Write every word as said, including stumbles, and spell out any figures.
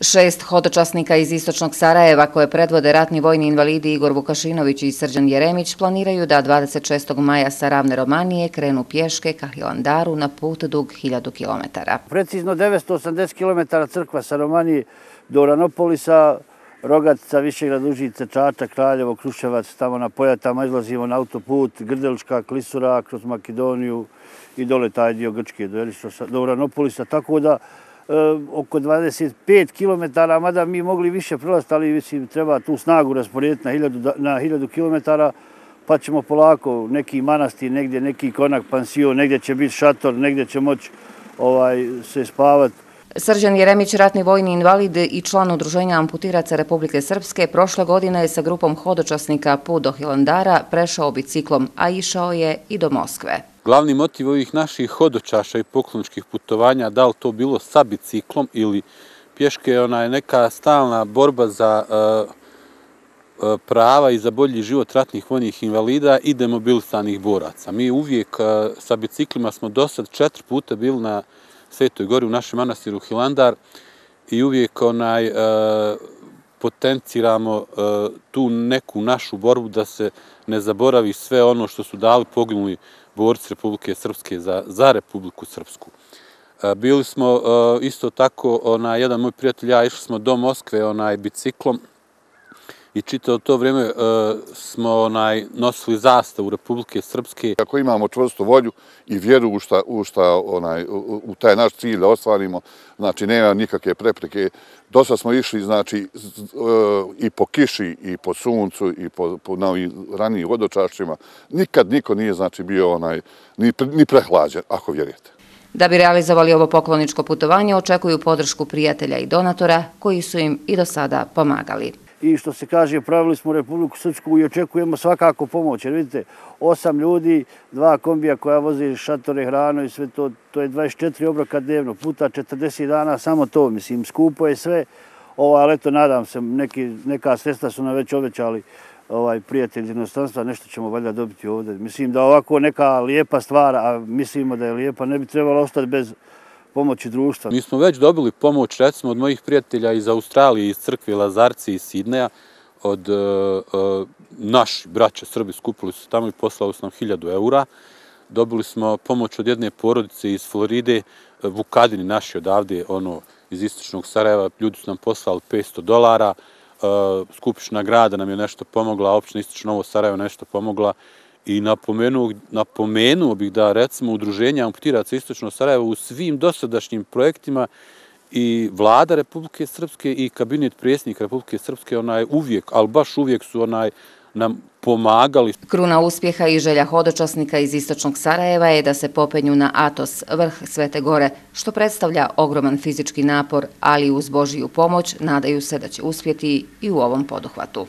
Šest hodočasnika iz istočnog Sarajeva, koje predvode ratni vojni invalidi Igor Vukašinović i Srđan Jeremić, planiraju da dvadeset šestog maja sa Ravne Romanije krenu pješke ka Hilandaru na put dug hiljadu kilometara. Precizno devetsto osamdeset kilometara crkva sa Romanije do Uranopolisa, Rogatica, Višegrad, Užice, Čačak, Kraljevo, Kruševac, tamo na Pojatama izlazimo na autoput, Grdelička, Klisura, kroz Makedoniju i dole taj dio Grčke do Uranopolisa, tako da oko dvadeset pet kilometara, mada mi mogli više prelaziti, ali mislim treba tu snagu rasporediti na hiljadu kilometara, pa ćemo polako neki manastir, negdje neki konak, pansion, negdje će biti šator, negdje će moći se spavati. Srđan Jeremić, ratni vojni invalid i član Udruženja amputiraca Republike Srpske, prošle godine je sa grupom hodočasnika put do Hilandara prešao biciklom, a išao je i do Moskve. Glavni motiv ovih naših hodočaša i pokloničkih putovanja, da li to bilo sa biciklom ili pješke, je neka stalna borba za prava i za bolji život ratnih vojnih invalida i demobilisanih boraca. Mi uvijek sa biciklima smo do sad četiri puta bili na Svetoj gori u našem manastiru Hilandar i uvijek potenciramo tu neku našu borbu da se ne zaboravi sve ono što su dali poginuli borci Republike Srpske za Republiku Srpsku. Bili smo isto tako, jedan moj prijatelj, ja išli smo do Moskve biciklom i čitao to vrijeme smo nosili zastavu Republike Srpske. Ako imamo čvrstu volju i vjeru u taj naš cilj da ostvarimo, znači nema nikakve prepreke. Dosta smo išli i po kiši, i po suncu, i po ranijim hodočašćima. Nikad niko nije bio ni prehlađen, ako vjerujete. Da bi realizovali ovo pokloničko putovanje, očekuju podršku prijatelja i donatora koji su im i do sada pomagali. I što se kaže, pravili smo Republiku Srpsku i očekujemo svakako pomoć. Jer vidite, osam ljudi, dva kombija koja vozi šatore, hranu i sve to, to je dvadeset četiri obroka dnevno, puta četrdeset dana, samo to, mislim, skupo je sve. Ali eto, nadam se, neka sredstva su nam već obećali prijatelji iz inostranstva, nešto ćemo valjda dobiti ovdje. Mislim da ovako neka lijepa stvar, a mislimo da je lijepa, ne bi trebalo ostati bez pomoći društva. Mi smo već dobili pomoć, recimo, od mojih prijatelja iz Australije, iz crkve Lazarci, iz Sidneja, od naši braća Srbi skupili su tamo i poslali su nam hiljadu eura. Dobili smo pomoć od jedne porodice iz Floride, Vukadini naši odavde, ono, iz istočnog Sarajeva, ljudi su nam poslali petsto dolara, Skupština grada nam je nešto pomogla, opština Istočno Novo Sarajevo nešto pomogla. I napomenuo bih da, recimo, Udruženja amputiraca Istočno Sarajevo u svim dosadašnjim projektima i vlada Republike Srpske i kabinet predsjednika Republike Srpske uvijek, ali baš uvijek su nam pomagali. Kruna uspjeha i želja hodočasnika iz istočnog Sarajeva je da se popenju na Atos, vrh Svete gore, što predstavlja ogroman fizički napor, ali uz Božiju pomoć nadaju se da će uspjeti i u ovom poduhvatu.